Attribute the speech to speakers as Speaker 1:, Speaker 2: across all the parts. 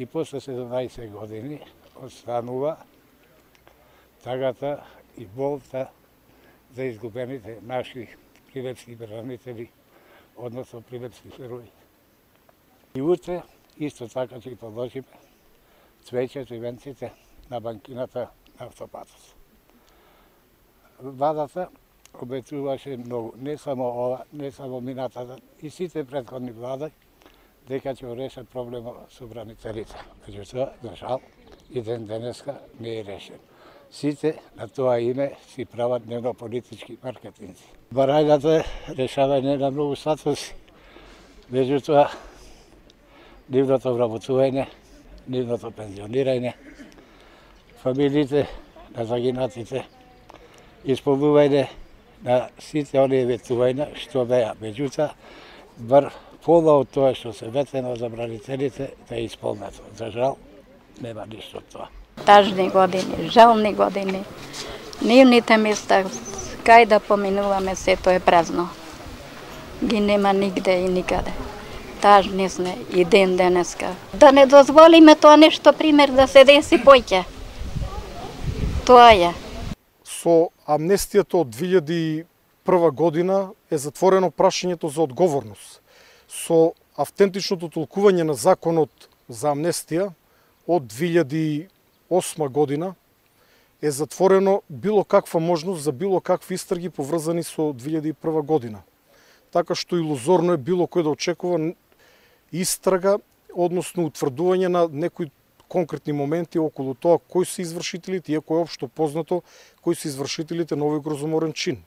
Speaker 1: И после 17 години останува тагата и болта за изгубените наши прилепски бранители, односно прилепски герои. И утре исто така ќе положиме цвеќето и венците на банкината на автопатот. Владата обетуваше многу, не само ова, не само минатата, и сите претходни влади, дека ќе решат проблемот со бранителите. Меѓутоа, за жал, и ден денеска не е решен. Сите на тоа име си прават дневно-политички маркетинзи. Барањата решавање на многу статуси, меѓутоа, нивното вработување, нивното пензионирање, фамилите на загинатите, исполнување на сите оние ветувања што беа. Меѓутоа, бар пола од тоа што се ветено за бранителите да е исполнето. За жал, нема ништо од тоа.
Speaker 2: Тажни години, жални години. Нивните места, кај да поминуваме, сето е празно. Ги нема нигде и никаде. Тажни сме и ден денеска. Да не дозволиме тоа нешто пример да се деси поќе. Тоа е.
Speaker 3: Со амнестијата од 2001 година е затворено прашањето за одговорност. Со автентичното толкување на законот за амнестија од 2008 година е затворено било каква можност за било какви истраги поврзани со 2001 година. Така што илузорно е било кој да очекува истрага, односно утврдување на некои конкретни моменти околу тоа кои се извршителите, иако е општо познато кои се извршителите на овој грозоморен чин.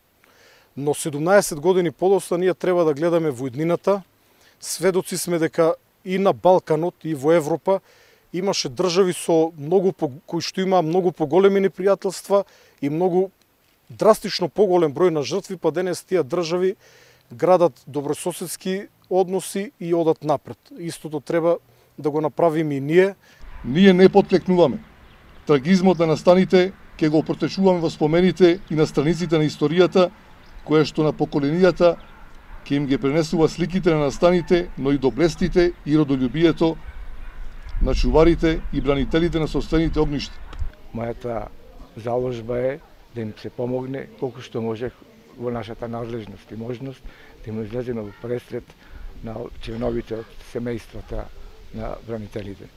Speaker 3: Но 17 години подоцна ние треба да гледаме во иднината. Сведоци сме дека и на Балканот, и во Европа имаше држави со многу кои што имаа многу поголеми непријателства и многу драстично поголем број на жртви, па денес тие држави градат добрососедски односи и одат напред. Истото треба да го направиме и ние.
Speaker 4: Ние не потклекнуваме. Трагизмот на настаните ќе го протечуваме во спомените и на страниците на историјата, која што на поколенијата ќе им ги пренесува сликите на настаните, но и доблестите и родолюбието на чуварите и бранителите на собствените огништа.
Speaker 5: Мојата заложба е да им се помогне колку што може во нашата надлежност и можност да им излеземе во пресред на членовите од семејствата на бранителите.